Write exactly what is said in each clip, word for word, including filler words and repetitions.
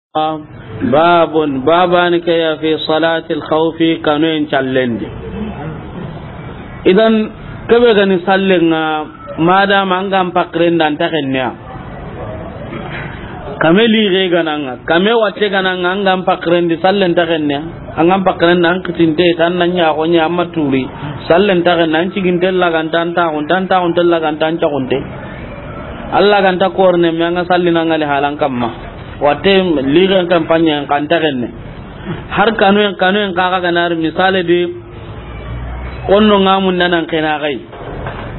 Babun, babani ke ya fi salatil khawfi, kanoyen callen di. Idan, kebe ga ni sallen ŋa, madama an ga n pakiren di, an ta xenne ya. Kame lixe ga na ŋa, kame watte ga na ŋa, an ga n pakiren di, sallen ta xenne ya. An ga n pakiren di, an kitinte, tan na ɲa xo ɲa, an ma turi. Sallen ta xenne, an ciginte laganta, an taxunte, an taxunte laganta, an caxunte. Alla ga nta korne me an ga sallini an ŋa li halan kamma. Watte ligen kampanye kan ta xenne. Har kanoyen, kanoyen kaxa ga na ri misale di, konno ŋa mun danan xena xay.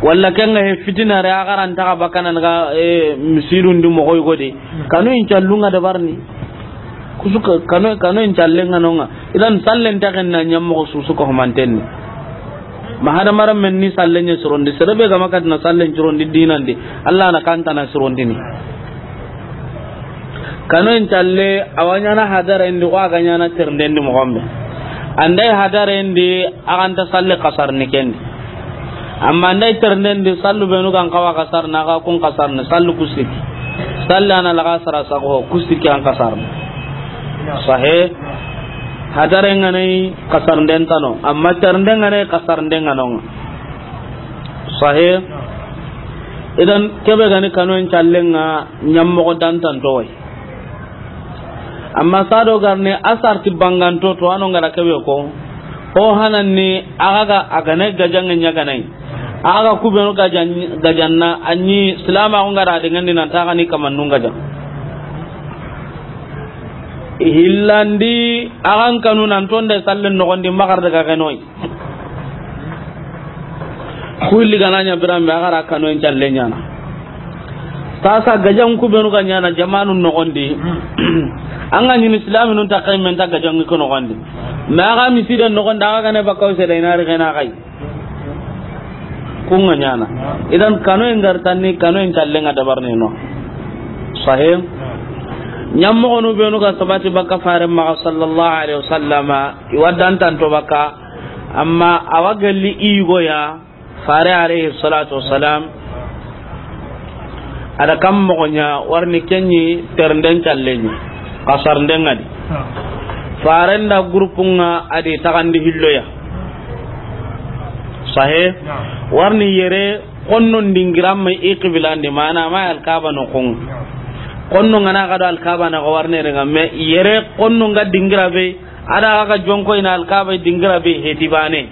Walla ken ŋa he fitina re a xaran ta xa bakana ga, e, misidun di moxoy gode. Kanoyen callun ŋa dabarni. Kusu ka-, kano-, kanoyen callen ŋa no ŋa. Idan sallen ta xenna ɲammoxo susu ko humanten ni. Ma hadamaren men ni sallen ɲa sirondi, sere be ga ma katina sallen sirondi dinan di, Alla na kantana sirondini. Kanoyen calle, a wa ɲana hadaren di, ko a ga ɲana ternden di moxon be. An da i hadaren di, a ga nta salle kasarni ken di. Amma an da i ternden di, sallu benu ga n xawa kasarni, a ga kun kasarni, sallu kusiki. Sallu a na laga sara sago, kusiki an kasarni. Sahe, hadaren ŋa na i kasarnden tano, amma ternden ŋa na i kasarnden ŋa no ŋa. Sahe. Idan, kebe ga ni kanoyen callen ŋa, ɲammoxo dantanto wa yi. Amma sado garne a sarti banganto to, a no ŋa ra kebe ko. Ho hananni, a ga ga, a ga na gajanŋe ɲa ga na yi. A ga kubenu gajan-, gajanna, a ɲi silama ko ŋa ra de ŋa ndi nan ta ga ni kamannun gajan. Hillandi, a ga n kanu nan tonde sallen noxon di, maxar daga xenoy. Ku hilli ga na ɲa biran be, a ga ra kanoyen calle ɲana. Sasa gajan kubenu ga ɲana jamanun noxon di. An ga ɲini silaminun ta xay men ta gajan ko noxon di. Ma a ga misiden noxon di, a ga ga ne bakaw se da i na ri xena xay. Kun ŋa ɲana. Idan kanoyen ga ri tanni, kanoyen callen ŋa dabarni no. Sahe. Ɲammoxonu benu ga sabati baka fare maxa sallallahu alaihi wasallama, i wa dantanto baka. Amma a wa gelli i yugo ya, fare alaihi salatu wassalam, a da kam moxo ɲa, warni ken ɲi ternden callen ɲi, kasarnden ŋa di. Faren da gurupun ŋa a di taxandi hillo ya. Sahe, warni yere konnon dingira ma i qibilan di, mana ma alkaba noxon. Konno ŋa na ga do alkaba na ga warne re ŋa, me yere konno ŋa dingira be, a da ga jonko i na alkaba dingira be heti bane.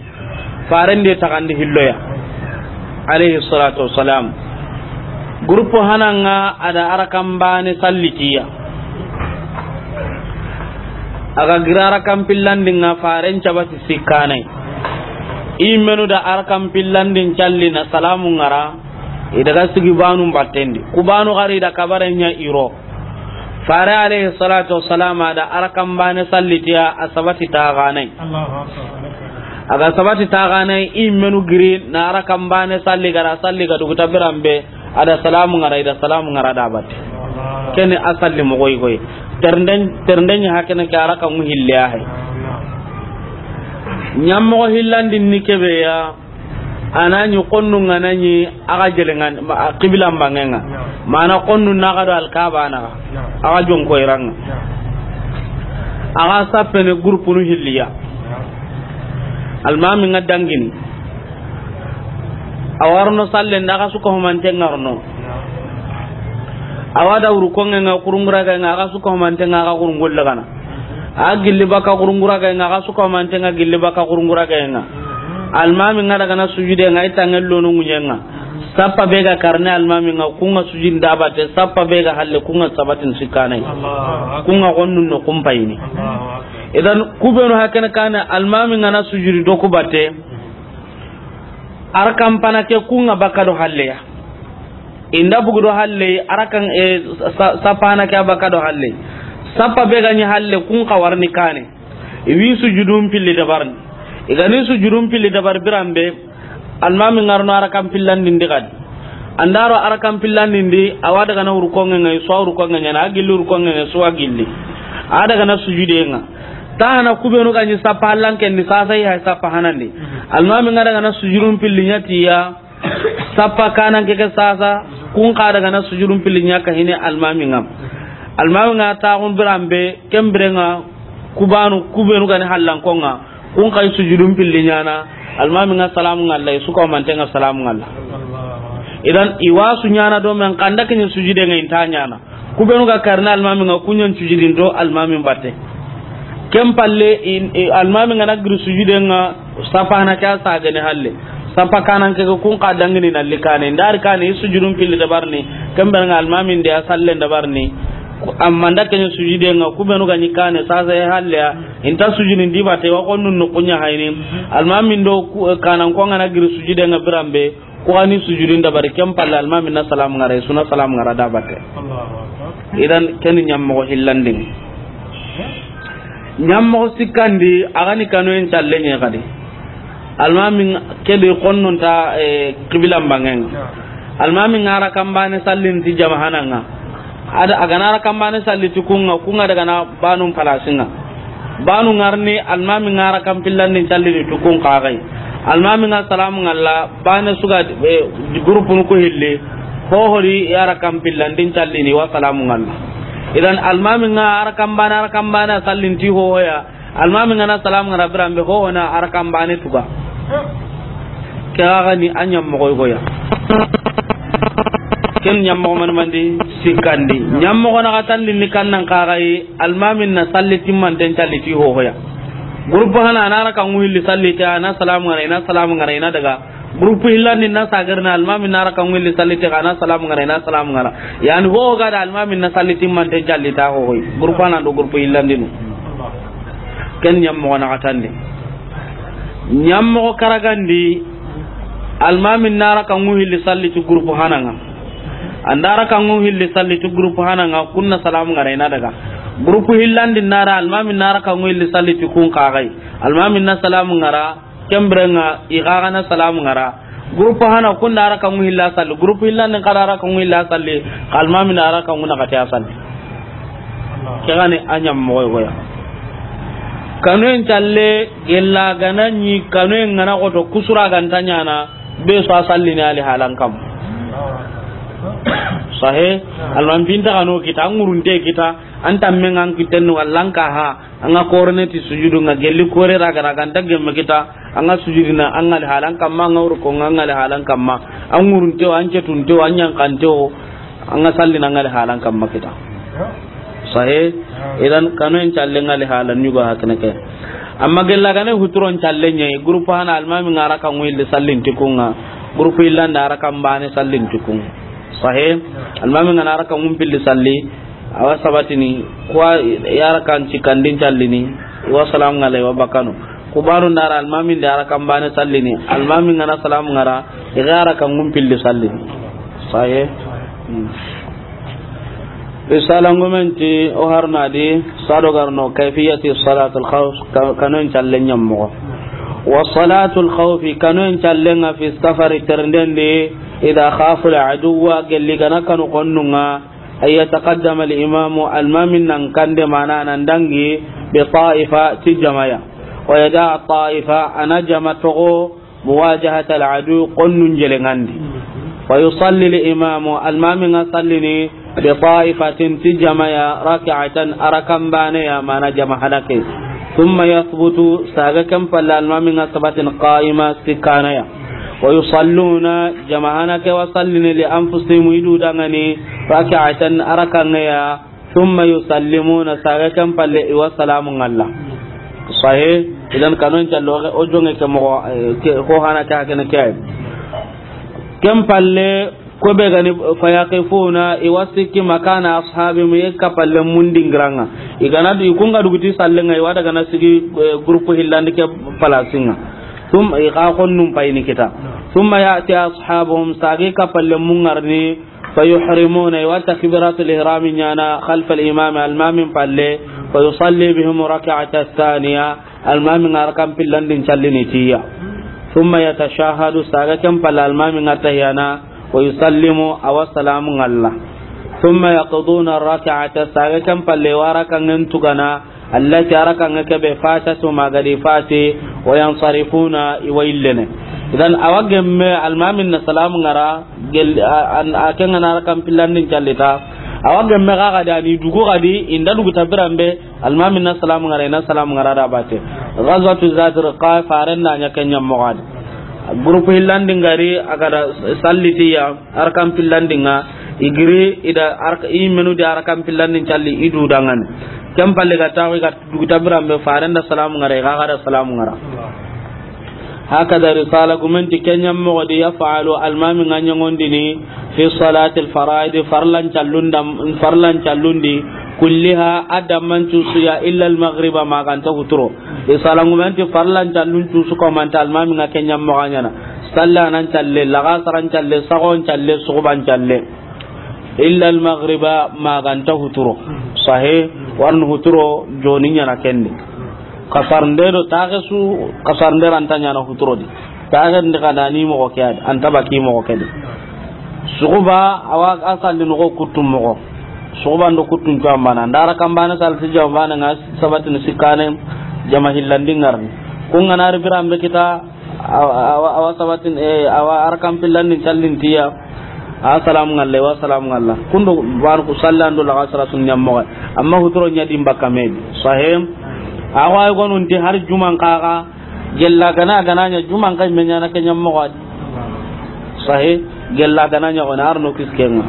Faren de taxandi hillo ya. Alaihi salatu wassalam. Groupe hanan ŋa a da arakan bane salliti ya. A ga gira arakan pillandin ŋa, faren cabati sikkanai. I menu da arakan pillandin calli na salamu ŋa ra. I daga sigi banu batten di. Ku banu gari da kabare ɲa i ro. Fare alaihi salatu wassalam a da arakan bane salliti ya, a sabati taxanai. Allahu akbar. A ga sabati taxanai, i menu giri na arakan bane salli, ga ra salli ga duguta biran be, a da salamu ŋa ra, i da salamu ŋa ra da batte. Keni a salli moxo yi koy. Ternden, ternden ɲi hakene ke arakan ŋu hille ya hay. Ɲammoxo hillandin ni kebe ya. A na ɲi konnu ŋa na ɲi a ga jelenŋa, ma-, a qibilan banŋen ŋa. Mana konnu na ga do alkaba na ga. A ga jonko i ran ŋa. A ga sappene groupe nu hilli ya. Almami ŋa dangini. A wa ro no sallen da, a ga suka humanten ŋa ro no. A wa da wuru konŋen ŋa, kurungura ga ŋa, a ga suka humanten ŋa, a ga kurungol lagana. A gilli baka kurungura ga ŋa, a ga suka humanten ŋa gilli baka kurungura ga ŋa. Almami ŋa daga na sujude ŋa, i tanŋe lono ŋuɲen ŋa. Sappa be ga karne almami ŋa, ku ŋa sujudin da batte, sappa be ga halle, ku ŋa sabatin sikkanai. Ku ŋa gonnun no kumpayini. Idan, ku benu hakene kane, almami ŋa na sujudi do ku batte. Arakan pana ke ku ŋa baka do halle ya. I nda bugu do halle, arakan, e, sa-, sapana ke a baka do halle. Sappa be ga ɲi halle, kun xa warni kane. I wi sujudun pilli dabarni. I ga ni sujudun pilli dabar biran be, almami ŋa ro no arakan pillandin di gadi. An da ro arakan pillandin di, a wa daga na wuru konŋen ŋa, i su wa wuru konŋen ŋa, a gilli wuru konŋen ŋa, i su wa gilli. A daga na sujude ŋa. Tahana ku benu ga ɲi sappa hallanken di, sasa i hay sappa hanandi. Almami ŋa daga na sujudun pilli ɲa ti ya. Sappa kanan ke ke sasa, kun xa daga na sujudun pilli ɲa ka hine almami ŋa. Almaami ŋa taaxun biran be, ken biren ŋa, ku baanu, ku beenu ga ni hallanko ŋa, kun xa yi sujudun pilli ɲaana, almaami ŋa salaamun ŋa a la, i su ga manten ŋa salaamun ŋa a la. Idan, i wa su ɲaana do men, xa an da ke ɲa sujude ŋa, i nta ɲaana. Ku beenu ga karini almaami ŋa, ku ɲa n sujudin do almaami batte. Ken palle, i, i, almaami ga na giri sujude ŋa, safana ke a sagene halle. Safa kanan ke kun xa dangini na li kaane. N da ri kaane, i sujudun pilli dabarini. Ken biren ŋa almaami n de a sallen dabarini. Ku, amma an da ke ɲa sujude ŋa, ku beenu ga ni kaane, sasa i halle ya. I nta sujudin di batte, wa xonnun no ku ɲa hayini. Almaami n do ku, kananko ŋa na giri sujude ŋa biran be. Ku ga ni sujudun dabari, ken palle almaami na salaamun ŋa ra, i su na salaamun ŋa ra da batte. Allahu Akbar. Idan, ken ni ɲammoxo hillandin. Ɲammoxo sikkandi, a ga ni kanoyen callen ɲa xadi. Almaami ke di xonnun ta, eh, qibilan banŋen ŋa. Almaami ŋa rakan baane sallini ti jamahanan ŋa. A da, a ga na rakan baane salli ti kun ŋa, kun ŋa daga na baanun palasin ŋa. Baanu ŋa ri ni, almaami ŋa rakan pillandin callini ti kun xa ga yi. Almaami ŋa salaamun ŋa a la, baane su ga, eh, groupe nu ku hilli, hohori ya rakan pillandin callini wa salaamun ŋa a la. Idan almaami ŋa rakan baane, rakan baane sallini ti hohoya, almaami ŋa na salaamun ŋa ra biran be, hoho na rakan baane tuga. Ke xa ga ni a ɲammoxo yogo ya. Ken ɲammoxo mani mandi sikkandi. Ɲammoxo naxatandi ni kannan xa ga yi, almaami na salli timmanten calli ti hohoya. Groupe hana a na rakan ŋu hilli salli ti, a na salaamun ŋa ra, i na salaamun ŋa ra, i na daga. Groupe hillandi na sagarina, almaami na rakan ŋu hilli salli ti, a na salaamun ŋa ra, i na salaamun ŋa ra. Yani hoho ga da almaami na salli timmanten calli ta hohoyi. Groupe hana do groupe hillandinu. Ken ɲammoxo naxatandi. Ɲammoxo karagandi, almaami na rakan ŋu hilli salli ti groupe hana ŋa. An da rakan ŋu hilli salli ti groupe hana ŋa, kun na salaamun ŋa ra, i na daga. Groupe hillandi na ra, almaami na rakan ŋu hilli salli ti kun xa ga yi. Almaami na salaamun ŋa ra, ken biren ŋa i xa ga na salaamun ŋa ra. Groupe hana kun da rakan ŋu hilla salli. Groupe hillandi xa da rakan ŋu hilla salli. Xa almaami na rakan ŋu naxati a salli. Ke ga ni a ɲammoxo yogo ya. Kanoyen calle, gella ga na ɲi kanoyen ŋa na xoto, kusura ga nta ɲaana, be su a sallini ali halan kam. Sahe, almaami nta kano kita, an ŋurunte kita, an tammen ŋa an kitten walla an ka ha. An ga korene ti sujudu ŋa, gelli kore ra ga ra ga nta gemme kita, an ga sujudina, an ga li halan kamma, an ga ruku ŋa, an ga li halan kamma, an ŋurunte wo, an cetunte wo, an ɲanxante wo, an ga sallina, an ga li halan kamma kita. Sahe, idan kanoyen calle ŋa li halan ɲugo hakene ke. Amma gella ga na huturon calle ɲa yi, groupe hana almaami ŋa rakan ŋu hilli sallini ti kun ŋa, groupe hillandi rakan baane sallini ti kun ŋa. Sahe, almaami ŋa na rakan ŋu pilli salli, a wa sabatini, ku wa ya rakan sikkandin callini, i wa salaamun ŋa a la, i wa bakka no. Ku baanu n da ra almaami n de ya rakan baane sallini, almaami ŋa na salaamun ŋa ra, i ga ya rakan ŋu pilli sallini. Sahe. Hmm. Risala ngumen ti o harna di, sado garno, kayfiyati salatul khawf, ka-, kanoyen calle ɲammoxo. Wa salatul khawfi, kanoyen calle ŋa fi safari ternden di, idha khafu al aduwa, gelli ga na kanu xonnun ŋa, أن يتقدم الإمام، المام نان كاندي مانا نان دانغي بطائفة تجمايا، ويدع الطائفة أنا جما تغو مواجهة العدو قنن جلنغاندي، فيصلي الإمام المام نان صليني بطائفة تجمايا ركعة أركان بانيا مانا جما هدكي، ثم يثبت ساغا كم فلا المام نان ثبت قائما سكانيا. ويصلون جماعة كي وصلين لأنفسهم يدو دغني ركعة أركان يا، ثم يسلمون ساغا كم فلي وسلام الله. صحيح. إذن كانوا إن شاء الله أجون كم كو هانا كاكن كاي كم فلي كوبي غني فيقفون يوسك مكان أصحابهم يكفل من دينغرانا. إذا ندي كونغا دوغتي سالنغا يوادا غنا سيغي غروب هيلاندي كي فلاسينغا. Summa i xa xonnun payini kita. Summa ya'ti ashabuhum, sage kappalle mungarni, fayuhrimuna, i wa takbiratul ihrami ɲana, khalfal imami, almamin palle, fayusalli bihim rak'ata thaniya, almamin ŋa rakan pillandin callini tiya. Summa yatashahadu, sage ken palle almamin ŋa tahiyana, wa yusallimu, a wa salamu ŋalla. Summa yaqduna rak'ata, sage ken palle wa rakan ŋen tugana, allati, a rakan ŋa kebe, fatatu, ma gadi fati, wa yansarifuna, i wa yillene. Idan, a wa gemme, almamin na salamu ŋara, gel-, a, a, a ken ŋa na rakan pillandin callita, Awa gemme ga ga da ni dugu ga di, i nda dugu ta biran be, almaami na salamu ŋara, i na salamu ŋara da bate. Ghazwatu Zatir ka faren da ɲa ken ɲa moxo di. Groupe hillandi ŋari, a ga da salli ti ya, arkan pillandi ŋa, i giri, i da ark-, i menu di arkan pillandin calli, i du danŋani. Ken palle ga taxu, i ga dugu ta biran be, faren da salamu ŋara, i ga ga da salamu ŋara. Hakada risala gumen ti ken ɲa moxo di, yaf'alu almaami ŋa ɲaŋondini fi salatil faraidi, farlan callun dam-, farlan callun di, kulliha, a damman cuusu ya, illa al maghriba, ma ga nta huturo. Risala gumen ti farlan callun cuusu ko manta almaami ŋa ken ɲa moxo ɲaana. Salla nan calle, laxasaran calle, saxon calle, suxuban calle. Illa al maghriba, ma ga nta huturo. Sahe, warni huturo, joni ɲaana ken di. Kasarnde do taxe su, kasarnde ra nta ɲaana huturo di. Taxe ndi xa da ni moxo ke ya di, a nta baki moxo ke di. Suxuba, awa a salli noxo kuttu moxo. Suxuban do kuttun cuwan bana. Nda arkan bane salli ti jama bane ŋa sabatini sikkane, jama hillandi ŋarni. Kun ga na ri biran be kita, Awa, awa, awa sabatin, eh, awa arkan pillandin callin ti ya. A salamu ŋalla, wa salamu ŋalla. Kundo ban ku sallan do laxasara sun ɲa moxo. Amma huturo ɲa di n bakka me di. Sahe. Awa ay gonun ti har juman kaga. Gella ga na, ga na ɲa juman kay me ɲaana ken ɲa moxo di. Sahe. Gella ga na ɲa gona arno kiskenga.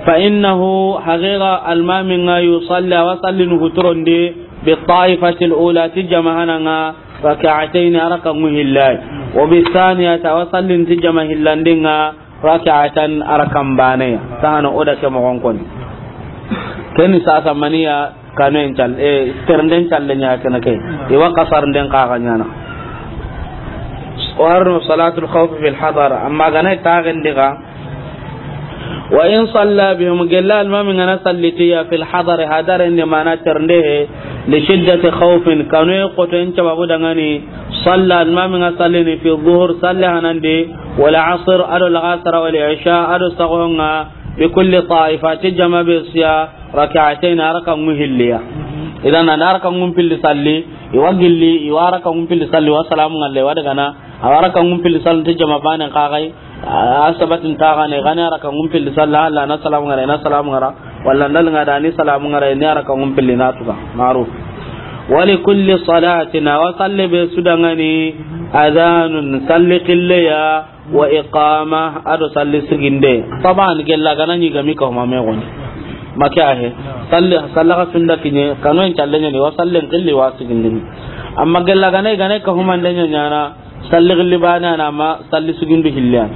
Fa innahu haqiqa almaami ŋa yusalli, awa sallini huturon di, bi ta'ifatil ula, ti jama hana ŋa, rak'atayn, araka ŋu hillay. Wa bi thaniyati, awa sallin ti jama hillandi ŋa, rak'atan, arakan bane ya. Tahana o da ke moxon koni. Keni sasa maniya kanoyen cal-, eh, ternden calle ɲa kene ke. Iwa kasarnden kaga ɲaana. Warno salatul khawf fil hadar. Amma ga na taxen di ga, Wa in salla bihim, gella almaami ŋa na salli ti ya fil hadari, hadaren di mana ternde he, li shiddati khawfin, kanoye xotoyen sababu danŋani, salla, almaami ŋa sallini fi zuhur, salli hanandi, wal asr, ado laxasara, wal isha, ado saxon ŋa, bi kulli ta'ifa, ti jama be su ya, rak'atayn, araka ŋu hilliya. Idan, a nda araka ŋu pilli salli, iwa gilli, iwa araka ŋu pilli salli, wa salamu ŋalle, wa dagana, awa araka ŋu pilli salli, ti jama banen kaga yi, A sabatin taxane, ga na araka ŋu pilli salla, Allah na salamu ŋara, na salamu ŋara, walla ndal ŋa da ni salamu ŋara, ni araka ŋu pilli na tuga, maruf. Wa li kulli salatin, awa salle be su danŋani, adhanun, salli xille ya, wa iqama, ado salli siginde. Taban, gella ga na ɲi ga mi ka huma me goni. Make a he, salli, salla ga sunda kiɲe, kanoyen calle ɲa ni, wa sallen xilli wa sigindini. Amma gella ga na, ga na ka humande ɲa ɲaana, Salli gilli bane a na ma salli sugindu hilliyan.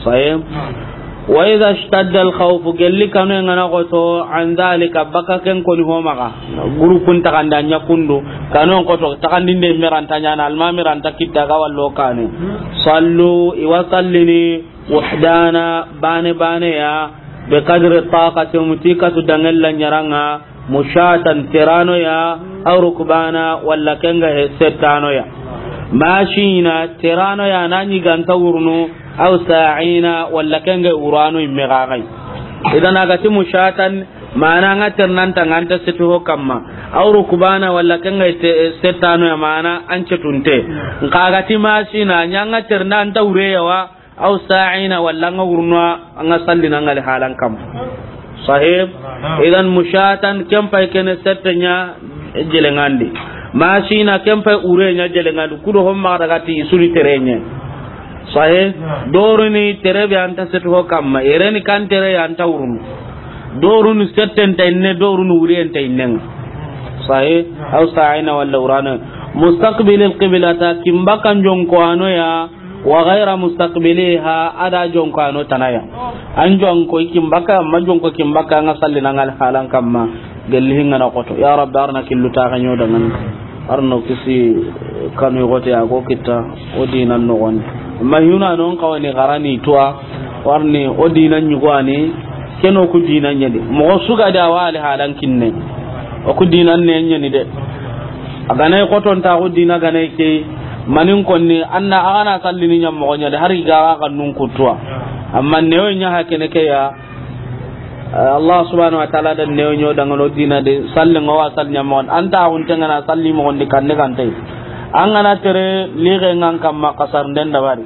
Saye. Wa idha ishtadda al-khawfu, gelli kanu ngana goto, an dhalika, baka ken koni ho maga. Gurupun taxandi a ɲa kundu. Kanu goto, taxandinde meranta ɲana, almami ranta kitta ga wallo kane. Sallu, iwa sallini, wuhdana, bane bane ya, bi qadri taqati, mutikatu dangella ɲaranga, mushatan, terano ya, aw rukbana, walla kenga he settano ya. Mashina, terano ya, na ɲi ganta wurnu, aw sa'ina, walla kenga urano imme gagai. Idan a ga ti mushatan, mana nga ternan ta nganta setu ho kamma. Aw rukbana, walla kenga te, settano ya, mana an cetunte. Nka a ga ti mashina, ɲanga ternan ta ureya wa, aw sa'ina, walla nga wurno a nga sallina nga li halan kam. Sahib. Idan mushatan, ken pay kene sette ɲa jelengandi. Mashina, ken pay ure ɲa jelengandi. Kudo homma daga ti suri terenye. Sahib. Doruni terebe anta setu ho kamma. Ereni kan tere ya anta wurno. Doruni setten ta inne, doruni uri enta innen. Sahib. Aw sa'ina walla urana. Mustaqbilil qiblata, kimbakan jonko ano ya. Wa ghayra mustaqbiliha, ada jonko ano tanaya. An jonko ikimbaka, ma jonko kimbaka nga sallina ngal halan kamma. Gelli hinga na koto. Ya Rabbi, arna killu ta ganyo dangan. Arno kisi kanu gote ago kitta, o dinan no gon. Ma huna non kawani garani tuwa, warni o dinan nyugwani, keno ku dinan nyadi. Mo suga da wali halan kinne. O ku dinan ne nyani de. A ganay koton ta ku dina ganay ke, manin konni, anna a gana sallini ɲam moxo ɲa de, hari ga ga nun kutuwa. Amma newo ɲa hakene ke ya, Allah subhanahu wa ta'ala da newo ɲo dangano dina de, salli ngo wa salli ɲam moxo, anta a gunte ngana salli moxo ndi kande kante. An gana tere lixe ngan kamma kasar nden dabari.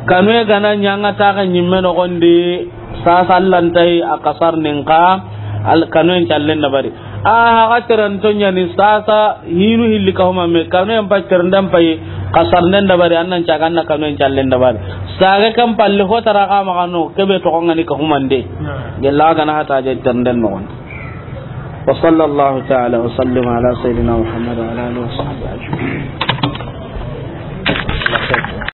Kanu e gana ɲanga taxe ɲimme noxondi, Sasa Alla nta yi a kasarni nka, al-, kanuyen callen dabari. A haxa teranto ɲani sasa hinu hilli kahuma me, kanuyen pa terenden payi, kasarnden dabari, an nan caga an na kanuyen callen dabari. Saga kan palle ho tara xa maxa no, kebe toxo ŋa ni kahumande. Gella ga na hata je terenden noxon. وصلى الله تعالى وسلم على سيدنا محمد وعلى آله وصحبه أجمعين.